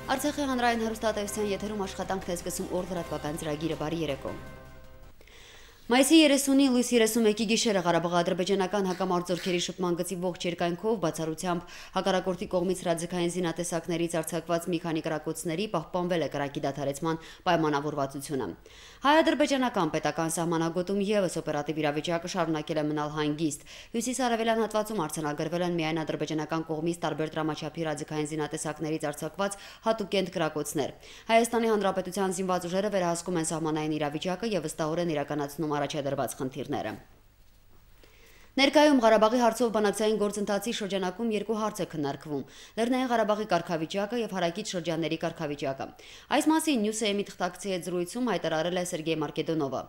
Արցախի հանրային հեռուստատեսության եթերում աշխատանքն է սկսում օր լրատվական ծրագիրը բարի երեկո։ Մայիսի 30-ի լույս 31-ի գիշերը Ղարաբաղ-ադրբեջանական հակամարտությունների շփման գծի ողջ երկայնքով բացառությամբ հակառակորդի կողմից հրաձգային զինատեսակներից արձակված մի քանի կրակոցների պահպանվել է կրակի դադարեցման պայմանավորվածությունը։ Հայ-ադրբեջանական պետական սահմանագոտում եւս օպերատիվ իրավիճակը շարունակել է մնալ հանգիստ։ Հյուսիսարևելյան հատվածում արձանագրվել են միայն ադրբեջանական կողմից տարբեր դրամաչափի հրաձգային զինատեսակներից արձակված հատուկենտ կրակոցներ։ Հայաստանի Հանրապետության զինված ուժերը վերահսկում են սահմանային իրավիճակը եւ վստահորեն իրականացնում առաջադրված խնդիրները։ Ներկայում Ղարաբաղի հարցով բանակցային գործընթացի շրջանակում երկու հարց է քննարկվում՝ Լեռնային Ղարաբաղի կարգավիճակը եւ հարակից շրջանների կարգավիճակը։ Այս մասին Նյուսեյմի թղթակցի հետ զրույցում հայտարարել է Սերգեյ Մարկեդոնովը։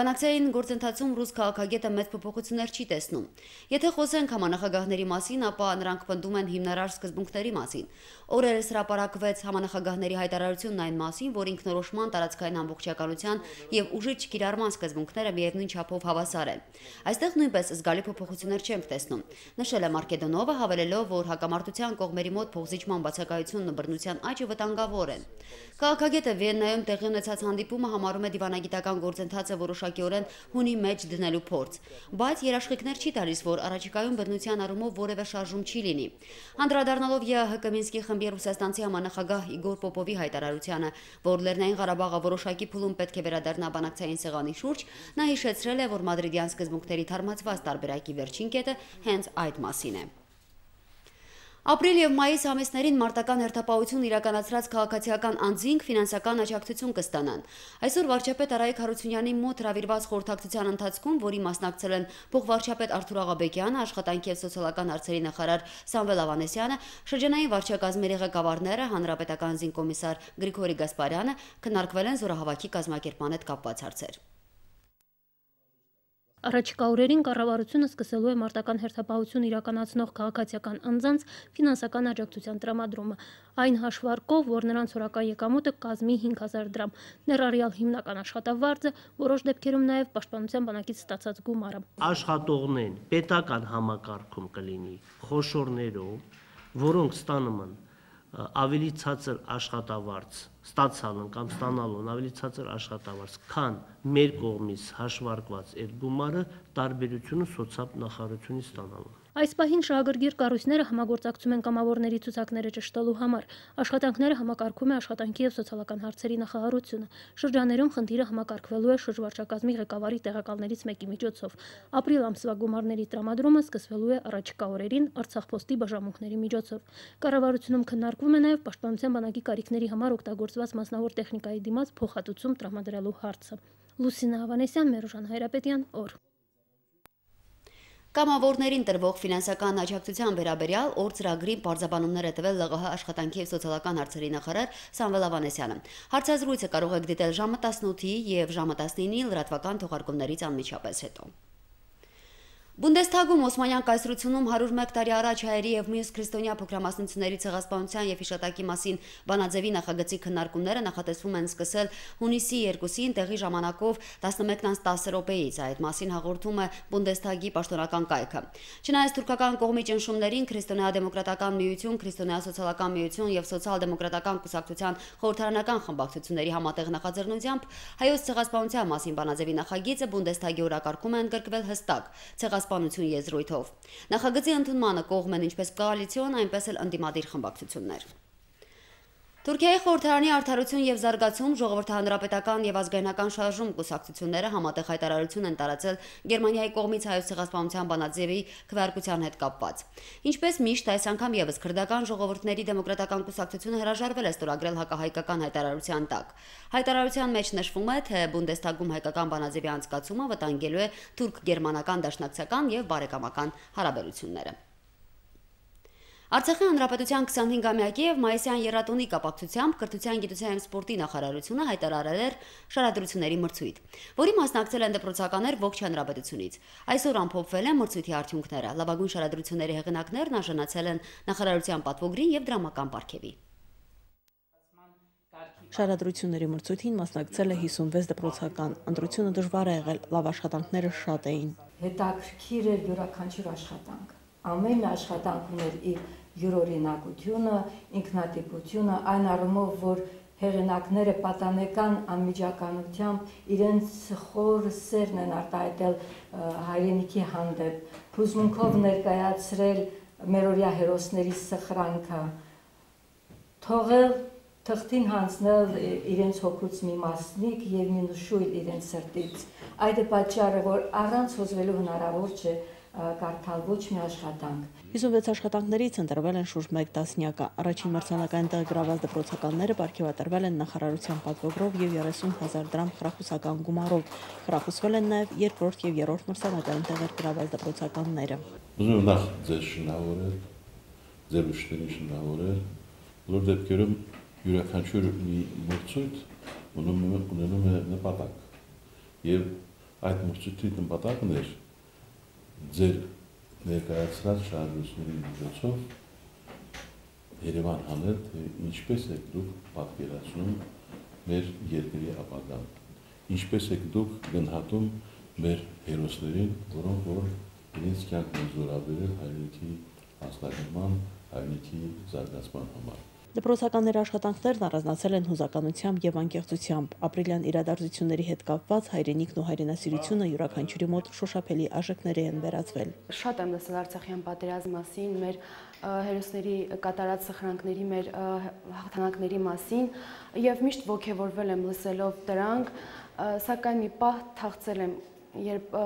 Բանակցային գործընթացում ռուս քաղաքագետը մեծ փոփոխություններ չի տեսնում։ Եթե խոսենք համանախագահների մասին, ապա նրանք պնդում են հիմնարար սկզբունքների մասին։ Օրերս հրապարակվեց համանախագահների հայտարարությունն այն մասին, որ ինքնորոշման, տարածքային ամբողջականության եւ ուժի չկիրառման սկզբունքները միևնույն չափով հավասար են։ Այստեղ նույնպես զգալի փոփոխություններ չենք տեսնում, նշել է Մարկեդոնովը, հավելելով, որ հակամարտության կողմերի մոտ փոխզիջման բացակայությունն ու բռնության աճը վտանգավոր են։ Քաղաքագետը Վիեննայում տեղի ունեցած հանդիպումը համարում է դիվանագիտական գործընթացը որոշակիորեն հունի մեջ դնելու փորձ, բայց երաշխիքներ չի տալիս, որ առաջիկայում բռնության առումով որևէ շարժում չի լինի։ Անդրադառնալով ԵԱՀԿ Մինսկի խմբի ռուսաստանցի համանախագահ Իգոր Պոպովի հայտարարությանը, որ Լեռնային Ղարաբաղը որոշակի փուլում պետք է վերադառնա բանակցային սեղանի շուրջ, նա հիշեցրել է, որ մադրիդյան սկզբունքների թարմացված տարբերակի վերջին կետը հենց այդ մասին է։ Ապրիլ եւ մայիս ամիսներին մարտական հերթապահություն իրականացրած քաղաքացիական անձինք ֆինանսական աջակցություն կստանան։ Այսօր վարչապետ Արայիկ Հարությունյանի մոտ հրավիրված խորհրդակցության ընթացքում, որի մասնակցել են փոխվարչապետ Արթուր Աղաբեկյանը, աշխատանքի եւ սոցիալական հարցերի նախարար Սամվել Ավանեսյանը, շրջանային վարչակազմերի ղեկավարները, հանրապետական զինկոմիսար Գրիգորի Գասպարյանը, քննարկվել են զորահավաքի կազմակերպման հետ կապված հարցեր։ Առաջիկա օրերին կառավարությունը սկսելու է մարտական հերթապահություն իրականացնող քաղաքացիական անձանց ֆինանսական աջակցության տրամադրումը, այն հաշվարկով, որ նրանց օրական եկամուտը կազմի 5000 դրամ, ներառյալ հիմնական աշխատավարձը, որոշ դեպքերում նաև պաշտպանության բանակից ստացած գումարը։ Աշխատողներն պետական համակարգում կլինի խոշորներով, որոնք ստանում են ավելի ցածր աշխատավարձ ստացալն կամ ստանալուն ավելի ցածր աշխատավարձ, քան մեր կողմից հաշվարկված այդ գումարը տարբերությունը սոցիալ նախարարությունից ստանալու։ Այս պահին շահագրգիռ կառույցները համագործակցում են կամավորների ցուցակները ճշտելու համար։ Աշխատանքները համակարգում է աշխատանքի եւ սոցիալական հարցերի նախարարությունը։ Շրջաներում խնդիրը համակարգվելու է շրջվարչակազմի ղեկավարի տեղակալներից մեկի միջոցով։ Ապրիլ ամսվա գումարների տրամադրումը սկսվելու է առաջիկա օրերին Արցախ-Պոստի բաժանմունքների միջոցով։ Կառավարությունում քննարկվում է նաեւ պաշտպանության բանակի կարիքների համար օգտագործված մասնավոր տեխնիկայի դիմաց փոխհատուցում տրամադրելու հարցը։ Լուսինա Ավանեսյան, Մերժան Հայրապետյան, օր։ Կամավորներին տրվող ֆինանսական աջակցության վերաբերյալ օր ծրագրի պարզաբանումներ է տվել ԼՂՀ աշխատանքի եւ սոցիալական հարցերի նախարար Սամվել Ավանեսյանը։ Հարցազրույցը կարող եք դիտել ժամը 18-ի եւ ժամը 19-ի լրատվական թողարկումներից անմիջապես հետո։ Բունդեսթագում Օսմանյան կայսրությունում 101 տարի առաջ հայերի եւ մյուս քրիստոնյա փոքրամասնությունների ցեղասպանության եւ հիշատակի մասին բանաձևի նախագծի քննարկումները նախատեսվում են սկսել հունիսի 2-ին տեղի ժամանակով 11:10 Այդ մասին հաղորդում է Բունդեսթագի պաշտոնական կայքը։ Չնայած թուրքական կողմի ճնշումներին քրիստոնյա-դեմոկրատական միություն, քրիստոնյա-սոցիալական միություն եւ սոցիալ-դեմոկրատական կուսակցության խորհրդարանական խմբակցությունների համատեղ նախաձեռնությամբ հայոց ցեղասպանության մասին բանաձևի նախագիծը Բունդեսթագի օրակարգում է ընդգրկվել հստակ ցեղասպանություն եզրույթով։ Նախագծի ընդունմանը կողմ են ինչպես կոալիցիոն, այնպես էլ ընդդիմադիր խմբակցություններ։ Թուրքիայի խորհրդարանի արդարություն եւ զարգացում, ժողովրդահանրապետական եւ ազգայնական շարժում կուսակցությունները համատեղ հայտարարություն են տարածել Գերմանիայի կողմից հայոց ցեղասպանության բանաձևի քվեարկության հետ կապված։ Ինչպես միշտ, այս անգամ եւս քրդական ժողովուրդների դեմոկրատական կուսակցությունը հրաժարվել է ստորագրել հակահայկական հայտարարության տակ։ Հայտարարության մեջ նշվում է, թե Բունդեսթագում հայկական բանաձևի անցկացումը վտանգելու է թուրք-գերմանական դաշնակցական եւ բարեկամական հարաբերությունները։ Արցախի հանրապետության 25-ամյակի եւ մայիսյան եռատունի կապակցությամբ կրթության, գիտության եւ սպորտի նախարարությունը հայտարարել էր շարադրությունների մրցույթ, որի մասնակցել են դպրոցականներ ողջ հանրապետությունից։ Այսօր ամփոփվել են մրցույթի արդյունքները։ Լավագույն շարադրությունների հեղինակներն արժանացել են նախարարության պատվոգրին եւ դրամական պարգևի։ Շարադրությունների մրցույթին մասնակցել է 56 դպրոցական։ Ընտրությունը դժվար է եղել, լավ աշխատանքները շատ էին։ Հետաքրքիր էր յուրաքանչյուր աշխատանք։ Ամեն աշխատանք ուներ իր յուրօրինակությունը, ինքնատիպությունը, այն առումով, որ հեղինակները պատանեկան անմիջականությամբ իրենց խոր սերն են արտահայտել հայրենիքի հանդեպ, հուզմունքով ներկայացրել մերօրյա հերոսների սխրանքը, թողել թղթին հանձնել իրենց հոգուց մի մասնիկ եւ մի նշույլ իրենց սրտից։ Այդ է պատճառը, որ առանց հոզվելու հնարավոր չէ կարդալ ոչ մի աշխատանք։ 56 աշխատանքներից ընտրվել են շուրջ 1 տասնյակը։ Առաջին մրցանակային տեղ գրաված դպրոցականները պարգևատրվել են նախարարության պատվոգրով եւ 30,000 դրամ խրախուսական գումարով։ Խրախուսվել են նաեւ երկրորդ եւ երրորդ մրցանակային տեղեր գրաված դպրոցականները։ Ուզում եմ նախ ձեզ շնորհավորել, ձեր ուշերին շնորհավորել, բոլոր դեպքերում յուրաքանչյուր մի մրցույթ ունենում է նպատակ եւ այդ մրցույթի նպատակն է ձեր ներկայացրած շարժությունների միջոցով Երևան հանել, թե ինչպես եք դուք պատկերացնում մեր երկրի ապագան, ինչպես եք դուք գնահատում մեր հերոսներին, որոնք որ իրենց կյանքն են զորաբերել հայրենիքի հաստատման, հայրենիքի զարգացման համար։ Դպրոցականների աշխատանքներն առանձնացել են հուզականությամբ եւ անկեղծությամբ։ Ապրիլյան իրադարձությունների հետ կապված հայրենիքն ու հայրենասիրությունը յուրաքանչյուրի մոտ շոշափելի արժեքների են վերածվել։ Շատ եմ լսել Արցախյան պատերազմի մասին, մեր հերոսների կատարած սխրանքների, մեր հաղթանակների մասին եւ միշտ ոգևորվել եմ լսելով դրանք, սակայն մի պահ թախծել եմ, երբ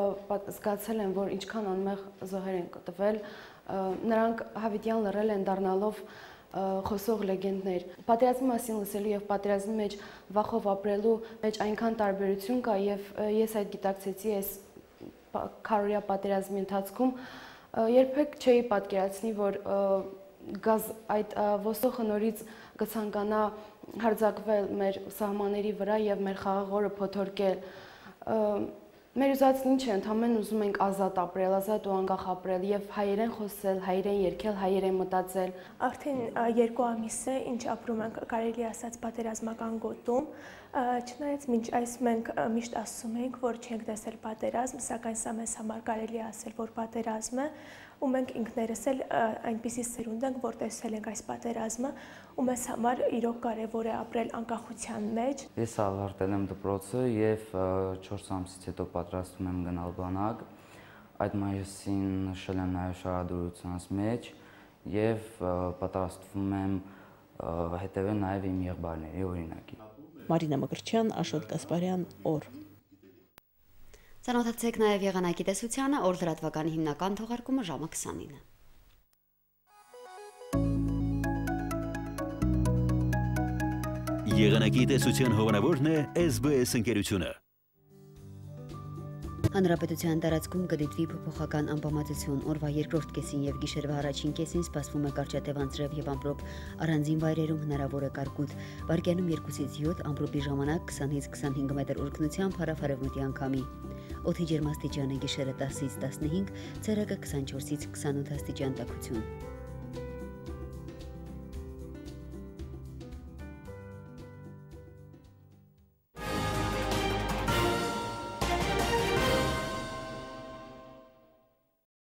զգացել եմ, որ ինչքան անմեղ զոհեր են կտվել, նրանք հավիտյան լռել են դառնալով խոսող լեգենդներ։ Պատերազմի մասին լսելու եւ պատերազմի մեջ վախով ապրելու մեջ այնքան տարբերություն կա եւ ես այդ գիտակցեցի այս քարորյա պատերազմի ընթացքում, երբեք չէի պատկերացնի, որ այդ ոսոխը նորից կցանկանա հարձակվել մեր սահմանների վրա եւ մեր խաղաղ օրը փոթորկել։ Մեր ուզածն ինչ է, ընդհանրեն ուզում ենք ազատ ապրել, ազատ ու անկախ ապրել եւ հայերեն խոսել, հայերեն երգել, հայերեն մտածել։ Արդեն 2 ամիս է, ինչ ապրում ենք, կարելի ասած, պատերազմական գոտում, չնայած մինչ այս մենք միշտ ասում ենք, որ չենք տեսել պատերազմ, սակայն սա մեզ համար կարելի ասել, որ պատերազմ է, ու մենք ինքներս էլ այնպիսի սերունդ ենք, որ տեսել ենք այս պատերազմը, ու մեզ համար իրոք կարևոր է ապրել անկախության մեջ։ Ես ավարտել եմ դպրոցը եւ 4 ամսից հետո պատրաստվում եմ գնալ բանակ։ Այդ մայիսին նշել եմ նաեւ շարադրությունս մեջ եւ պատրաստվում եմ հետեւել նաեւ իմ եղբայրների օրինակի։ Մարինա Մկրտչյան, Աշոտ Կասպարյան, օր։ Ծանոթացեք նաև եղանակի տեսությանը, օր լրատվականի հիմնական թողարկումը ժամը 29-ը։ Եղանակի տեսության հովանավորն է SBS ընկերությունը։ Հանրապետության տարածքում կդիտվի փոփոխական անբավարարություն, օրվա երկրորդ կեսին եւ գիշերվա առաջին կեսին սպասվում է կարճատև անձրև եւ ամպրոպ, առանձին վայրերում հնարավոր է կարկուտ, վարկյանում 2-ից 7, ամպրոպի ժամանակ 20-ից 25 մետր ուռգնությամբ հարավ-արևմտյան քամի։ Օդի ջերմաստիճանը գիշերը 10-ից 15, ցերեկը 24-ից 28 աստիճան տաքություն։